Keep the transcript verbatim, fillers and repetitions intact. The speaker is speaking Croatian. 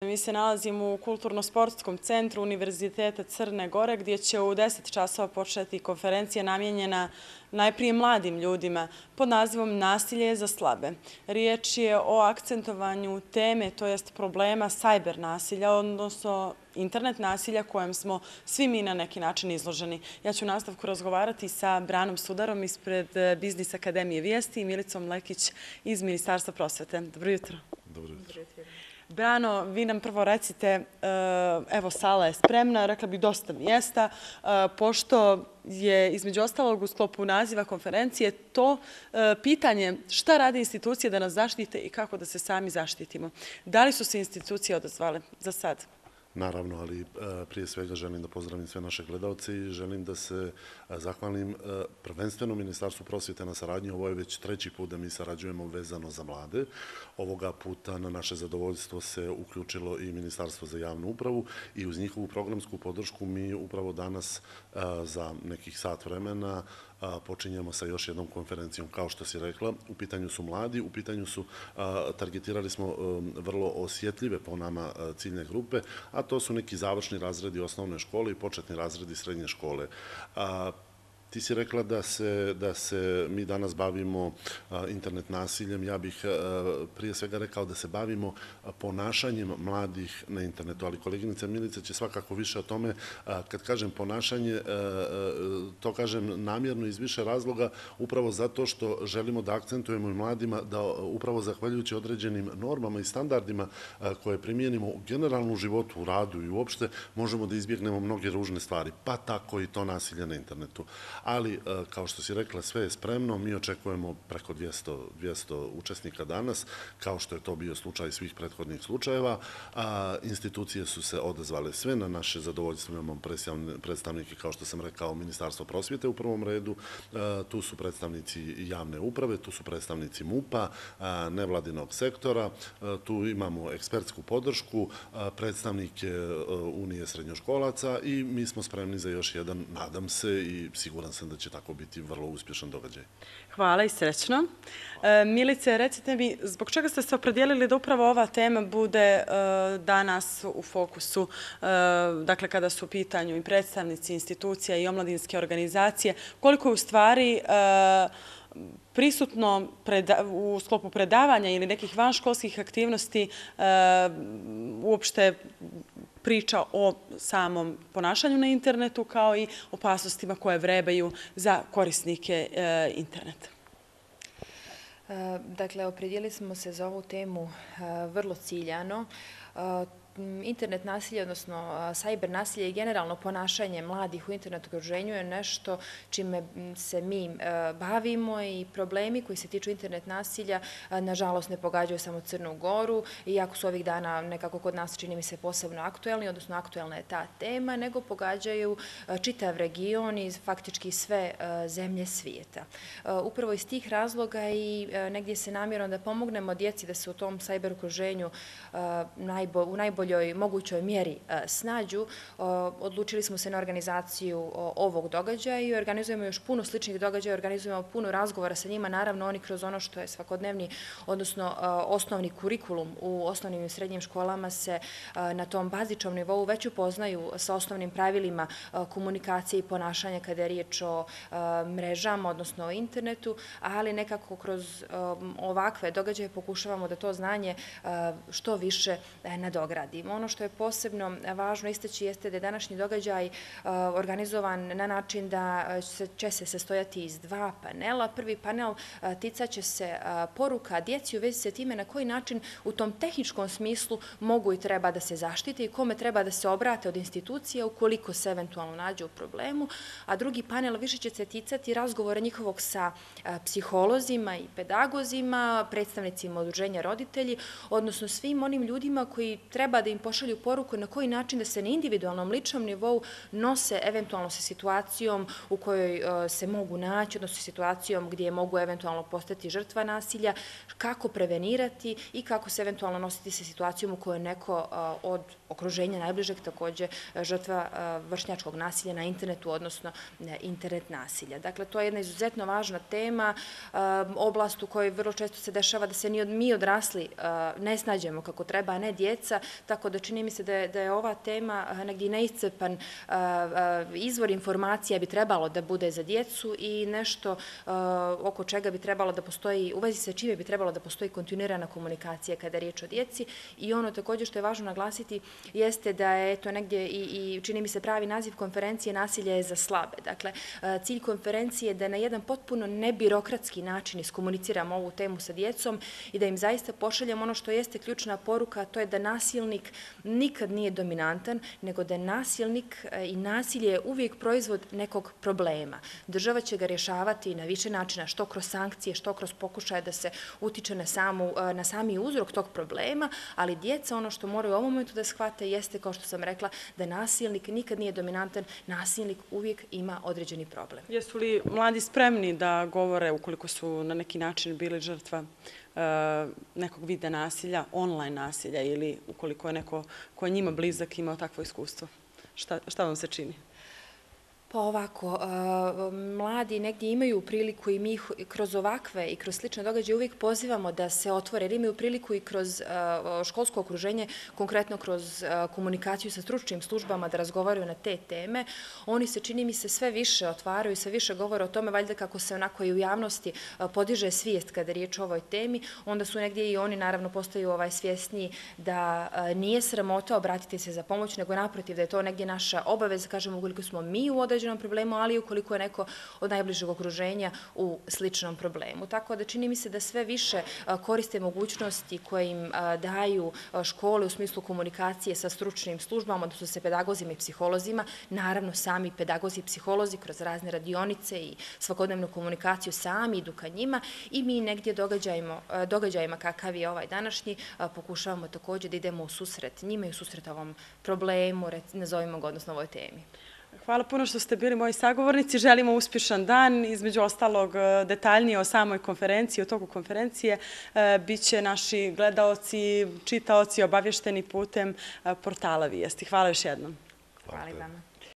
Mi se nalazimo u Kulturno-sportskom centru Univerziteta Crne Gore gdje će u deset časova početi konferencija namijenjena najprije mladim ljudima pod nazivom Nasilje za slabe. Riječ je o akcentovanju teme, to jest problema sajber nasilja, odnosno internet nasilja kojem smo svi mi na neki način izloženi. Ja ću u nastavku razgovarati sa Branom Sudarom ispred Biznis Akademije Vijesti i Milicom Lekić iz Ministarstva prosvete. Dobro jutro. Dobro jutro. Brano, vi nam prvo recite, evo sala je spremna, rekla bih dosta mjesta, pošto je između ostalog u sklopu naziva konferencije to pitanje šta rade institucije da nas zaštite i kako da se sami zaštitimo. Da li su se institucije odazvale za sad? Naravno, ali prije svega želim da pozdravim sve naše gledalce i želim da se zahvalim prvenstveno Ministarstvu prosvjete na saradnji. Ovo je već treći put da mi sarađujemo vezano za mlade. Ovoga puta na naše zadovoljstvo se uključilo i Ministarstvo za javnu upravu i uz njihovu programsku podršku mi upravo danas za nekih sat vremena počinjemo sa još jednom konferencijom. Kao što si rekla, u pitanju su mladi, u pitanju su, targetirali smo vrlo osjetljive po nama ciljne grupe, a to su neki završni razredi osnovne škole i početni razredi srednje škole. Ti si rekla da se, da se mi danas bavimo internet nasiljem. Ja bih prije svega rekao da se bavimo ponašanjem mladih na internetu, ali koleginica Milica će svakako više o tome. Kad kažem ponašanje, to kažem namjerno iz više razloga, upravo zato što želimo da akcentujemo i mladima da upravo zahvaljujući određenim normama i standardima koje primijenimo u generalnom životu, u radu i uopšte, možemo da izbjegnemo mnoge ružne stvari, pa tako i to nasilje na internetu. Ali, kao što si rekla, sve je spremno. Mi očekujemo preko dvjesto učesnika danas, kao što je to bio slučaj svih prethodnih slučajeva. Institucije su se odazvale sve. Na naše zadovoljstvo imamo predstavnike, kao što sam rekao, Ministarstva prosvjete u prvom redu. Tu su predstavnici javne uprave, tu su predstavnici MUP-a, nevladinog sektora, tu imamo ekspertsku podršku, predstavnike Unije srednjoškolaca i mi smo spremni za još jedan, nadam se i siguran sam da će tako biti vrlo uspješan događaj. Hvala i srećno. Milice, recite mi, zbog čega ste se opredijelili da upravo ova tema bude danas u fokusu, dakle kada su u pitanju i predstavnici institucija i omladinske organizacije, koliko je u stvari prisutno u sklopu predavanja ili nekih vanškolskih aktivnosti uopšte priča o samom ponašanju na internetu kao i opasnostima koje vrebaju za korisnike interneta? Dakle, opredijelili smo se za ovu temu vrlo ciljano. Internet nasilje, odnosno sajber nasilje i generalno ponašanje mladih u internet okruženju je nešto čime se mi bavimo i problemi koji se tiču internet nasilja nažalost ne pogađaju samo Crnu Goru, iako su ovih dana nekako kod nas čini mi se posebno aktuelni, odnosno aktuelna je ta tema, nego pogađaju čitav region i faktički sve zemlje svijeta. Upravo iz tih razloga i negdje se namjerno da pomognemo djeci da se u tom sajber okruženju u najbolje mogućoj mjeri snađu, odlučili smo se na organizaciju ovog događaja i organizujemo još puno sličnih događaja, organizujemo puno razgovora sa njima, naravno oni kroz ono što je svakodnevni, odnosno osnovni kurikulum u osnovnim i srednjim školama se na tom bazičnom nivou već upoznaju sa osnovnim pravilima komunikacije i ponašanja kada je riječ o mrežama, odnosno o internetu, ali nekako kroz ovakve događaje pokušavamo da to znanje što više nadogradimo. Ono što je posebno važno istaći jeste da je današnji događaj organizovan na način da će se sastojati iz dva panela. Prvi panel ticat će se poruka djeci u vezi sa time na koji način u tom tehničkom smislu mogu i treba da se zaštite i kome treba da se obrate od institucija ukoliko se eventualno nađe u problemu. A drugi panel više će se ticati razgovora njihovog sa psiholozima i pedagozima, predstavnicima udruženja roditelji, odnosno svim onim ljudima koji treba da im pošalju poruku na koji način da se na individualnom ličnom nivou nose eventualno sa situacijom u kojoj se mogu naći, odnosno situacijom gdje mogu eventualno postati žrtva nasilja, kako prevenirati i kako se eventualno nositi sa situacijom u kojoj neko od okruženja najbližeg također žrtva vršnjačkog nasilja na internetu, odnosno internet nasilja. Dakle, to je jedna izuzetno važna tema, oblast u kojoj vrlo često se dešava da se mi odrasli ne snađemo kako treba, a ne djeca, tako da čini mi se da je, da je ova tema negdje neiscrpan izvor informacija bi trebalo da bude za djecu i nešto oko čega bi trebalo da postoji, u vezi sa čime bi trebalo da postoji kontinuirana komunikacija kada je riječ o djeci. I ono također što je važno naglasiti jeste da je to negdje i, i čini mi se pravi naziv konferencije nasilje je za slabe. Dakle, cilj konferencije je da na jedan potpuno nebirokratski način iskomuniciramo ovu temu sa djecom i da im zaista pošaljemo ono što jeste ključna poruka, a to je da nasilnik nikad nije dominantan, nego da je nasilnik i nasilje je uvijek proizvod nekog problema. Država će ga rješavati na više načina, što kroz sankcije, što kroz pokušaje da se utiče na, samu, na sami uzrok tog problema, ali djeca ono što moraju u ovom momentu da shvate jeste, kao što sam rekla, da nasilnik nikad nije dominantan, nasilnik uvijek ima određeni problem. Jesu li mladi spremni da govore ukoliko su na neki način bili žrtva nekog vida nasilja, online nasilja ili ukoliko je neko ko je njima blizak imao takvo iskustvo? Šta, šta vam se čini? Pa ovako, mladi negdje imaju priliku i mi ih kroz ovakve i kroz slične događaje uvijek pozivamo da se otvore, jer imaju priliku i kroz školsko okruženje, konkretno kroz komunikaciju sa stručnim službama da razgovaraju na te teme. Oni se, čini mi se, sve više otvaraju i sve više govore o tome, valjda kako se onako i u javnosti podiže svijest kada je riječ o ovoj temi, onda su negdje i oni naravno postaju ovaj svjesniji da nije sramota obratiti se za pomoć, nego naprotiv da je to negdje naša obaveza, kažemo, ukoliko smo mi u određenom problemu, ali i ukoliko je neko od najbližeg okruženja u sličnom problemu. Tako da čini mi se da sve više koriste mogućnosti koje im daju škole u smislu komunikacije sa stručnim službama, odnosno sa pedagozima i psiholozima, naravno sami pedagozi i psiholozi kroz razne radionice i svakodnevnu komunikaciju sami idu ka njima i mi negdje događajima kakav je ovaj današnji pokušavamo također da idemo u susret njima i u susret ovom problemu, nazovimo ga, odnosno ovoj temi. Hvala puno što ste bili moji sagovornici. Želimo uspješan dan. Između ostalog, detaljnije o samoj konferenciji, o toku konferencije, bit će naši gledaoci, čitaoci obavješteni putem portala Vijesti. Hvala još jednom. Hvala i vama.